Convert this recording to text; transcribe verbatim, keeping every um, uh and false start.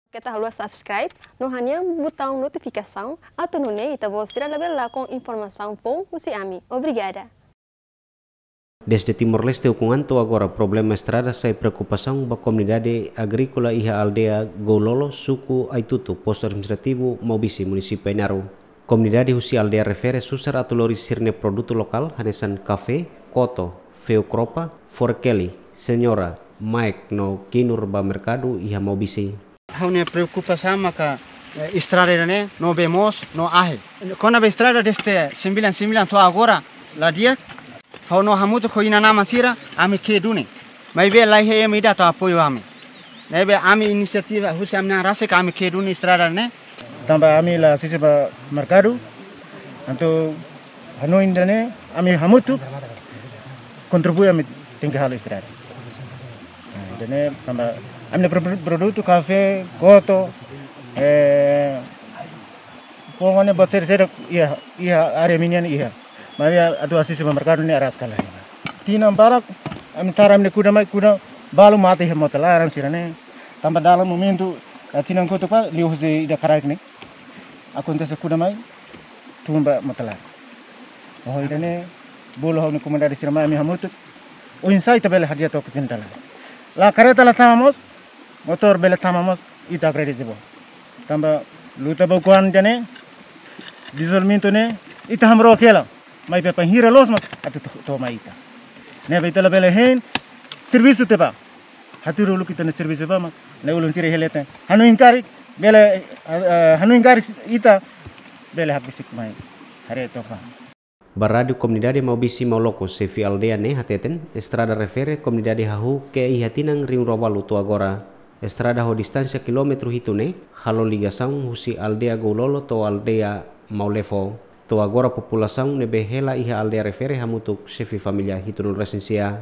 Keta haluha subscribe no hanehan butaun notifikasaun, atu nune'e ita-boot sira labele lakon informasaun foun husi ami. Obrigada. Desde Timor-Leste ukun an to'o agora, problema estrada sai preokupasaun ba komunidade agríkola iha aldeia Goulolo, suku Aitutu, postu administrativu Maubisse, munisípiu Ainaro. Komunidade husi aldeia refere susar atu lori sira-nia produtu lokál, hanesan kafé, koto, feu kropa, forkeli, señora, maek no kinur ba merkadu iha Maubisse. Ha'u-nia preokupasaun maka, eh, estrada ida-ne'e no bee moos no ahi. Kona-ba estrada desde sembilan sembilan to'o agora la di'ak. Ha'u no hamutuk ho inan-aman sira, ami ke'e duni. Maibé laiha ema ida atu apoiu ami. Ne'ebé ami inisiativa husi ami-nia an rasik ami ke'e duni estrada ne'e. Tanba ami la asiste ba merkadu, entaun hanoin ida-ne'e ami hamutuk kontribui, ami tenke halo estrada. Nah, ida-ne'e tanba ami-nia pro-, produtu kafé, koto, eh, pokoknya buat sériu-sériu iha, iha área ami-nian iha. Maibé atu asiste ba merkadu ne'e aras ka lae. Tinan barak ami tara ami-nia kuda mai, kuda balu mate iha mota laran sira-ne'e. Tanba dalan momentu, eh, tinan kotuk liuhusi ida kraik ne'e akontese, kuda mai tun ba mota laran. Ho ida-ne'e bolu ha'u-nia komunidade sira mai ami hamutuk. Oinsá ita bele hadi'a took tinan dala. La kareta la tama mós, motór bele tama mós, ita agradese boot. Tanba luta ba ukun an ida-ne'e, dizolvimentu ne'e, ita hamrook hela, maibé bainhira loos mak atu to-, to'o mai ita. Ne'ebé ita labele hein servisu tiha ba. Hatudu uluk ita-nia servisu ba mak, ne'e ulun sira iha leten. Hanoin karik, bele, eh, eh, hanoin karik ita bele hakbesik mai haree took ba. Ba Rádiu Komunidade Maubisse Mauloko, xefe aldeia ne'e hateten, estrada refere komunidade hahú ke'e iha tinan rihun rua ualu to'o agora. Estrada ho distánsia kilómetru hitu ne'e halo ligasaun husi aldeia Goulolo to'o aldeia Maulefo. To'o agora populasaun ne'ebé hela iha aldeia refere hamutuk xefe família hitunulu resin sia.